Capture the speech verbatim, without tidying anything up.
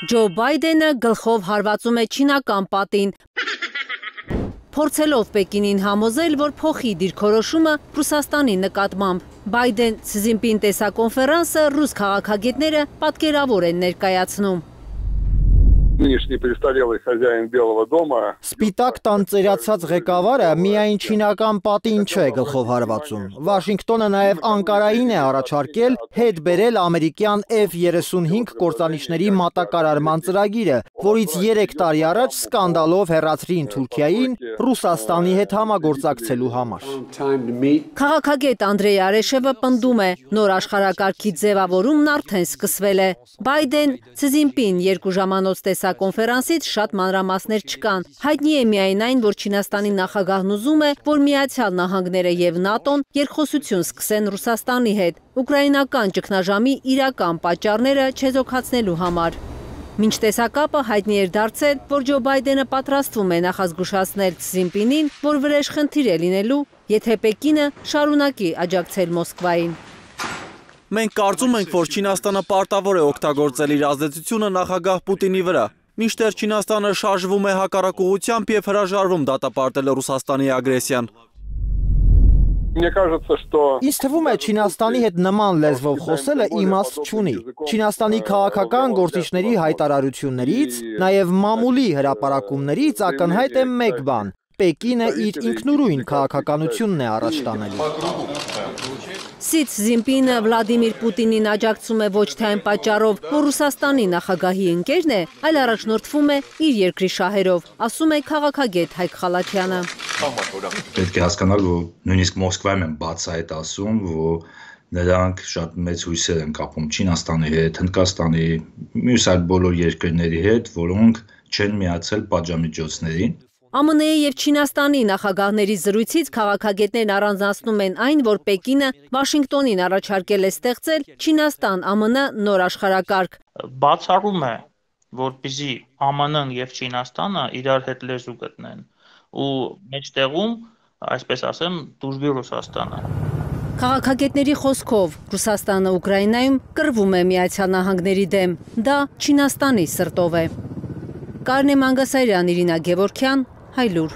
Ջո Բայդենը գլխով հարվածում է չինական պատին, փորձելով Պեկինին համոզել, որ փոխի դիրքորոշումը Ռուսաստանի նկատմամբ։ Բայդեն-Սի Ձինպին տեսակոնֆերանսը ռուս քաղաքագետները պատկերավոր են ներկայացնում։ Սպիտակ տան ծերացած ղեկավարը միայն չինական պատին չէ գլխով հարվածում։ Վաշինգտոնը նաև Անկարային է առաջարկել հետ բերել ամերիկյան F երեսունհինգ կործանիչների մատակարարման ծրագիրը, որից երեք տարի առաջ սկանդալով հեռացրին Թուրքիային Ռուսաստանի հետ համագործակցելու համար։ Քաղաքագետ Անդրեյ Արեշևը պնդում է, նոր աշխարհակարգի ձևավորումն արդեն սկսվել է։ Բայդեն-Սի Ձինպին երկու ժամանոց տեսակոնֆերանսից շատ մանրամասներ չկան։ Հայտնի է միայն այն, որ Չինաստանի նախագահն ուզում է, որ Միացյալ Նահանգները եւ ՆԱՏՕ-ն երկխոսություն սկսեն Ռուսաստանի հետ, ուկրաինական ճգնաժամի իրական պատճառները չեզոքացնելու համար։ Մինչ տեսակապը հայտնի էր դարձել, որ Ջո Բայդենը պատրաստվում է նախազգուշացնել Սի Ձինպինին, որ վրեժխնդիր է լինելու, եթե Պեկինը շարունակի աջակցել Մոսկվային։ Մենք կարծում ենք, որ Չինաստանը պարտավոր է օգտագործել իր ազդեցությունը նախագահ Պուտինի վրա, մինչդեռ Չինաստանը շարժվում է հակառակ ուղղությամբ և հրաժարվում դատապարտել Ռուսաստանի ագրեսիան։ Ինձ թվում է Չինաստանի հետ նման լեզվով խոսելը իմաստ չունի։ Չինաստանի քաղաքական գործիչների հայտարարություններից, նաև մամուլի հրապարակումներից ակնհայտ է մեկ բան. Պեկինը իր ինքնուրույն քաղաքականությունն է առաջ տանելու։ Սի Ձինպինը Վլադիմիր Պուտինին աջակցում է ոչ թե այն պատճառով, որ Ռուսաստանի նախագահի ընկերն է, այլ առաջնորդվում է իր երկրի շահերով, ասում է քաղաքագետ Հայկ Խալաթյանը։ Պետք է հասկանալ, որ նույնիսկ Մոսկվայում են բացահայտ ասում, որ նրանք շատ մեծ հույսեր են կապում Չինաստանի հետ, Հնդկաստանի, մյուս այլ բոլոր երկրների հետ, որոնք չեն միացել պատժամիջոցներին։ Ամն Է և Չինաստանի նախագահների զրույցից քաղաքագետներն առանձնացնում են այն, որ Պեկինը Վաշինգտոնին առաջարկել է ստեղծել Չինաստան-ԱՄՆ նոր աշխարհակարգ։ Բացառում է, որպեսզի ԱՄՆ-ն և Չինաստանը իրար հետ լեզու գտնեն ու մեջտեղում, այսպես ասեմ, դուժվի Ռուսաստանը։ Քաղաքագետների խոսքով Ռուսաստանը Ուկրաինայում կռվում է Միացյալ Նահանգների դեմ, դա Չինաստանի սրտով է։ Կարինե Մանգասարյան, Իրինա Գևորգյան, Հայլուր։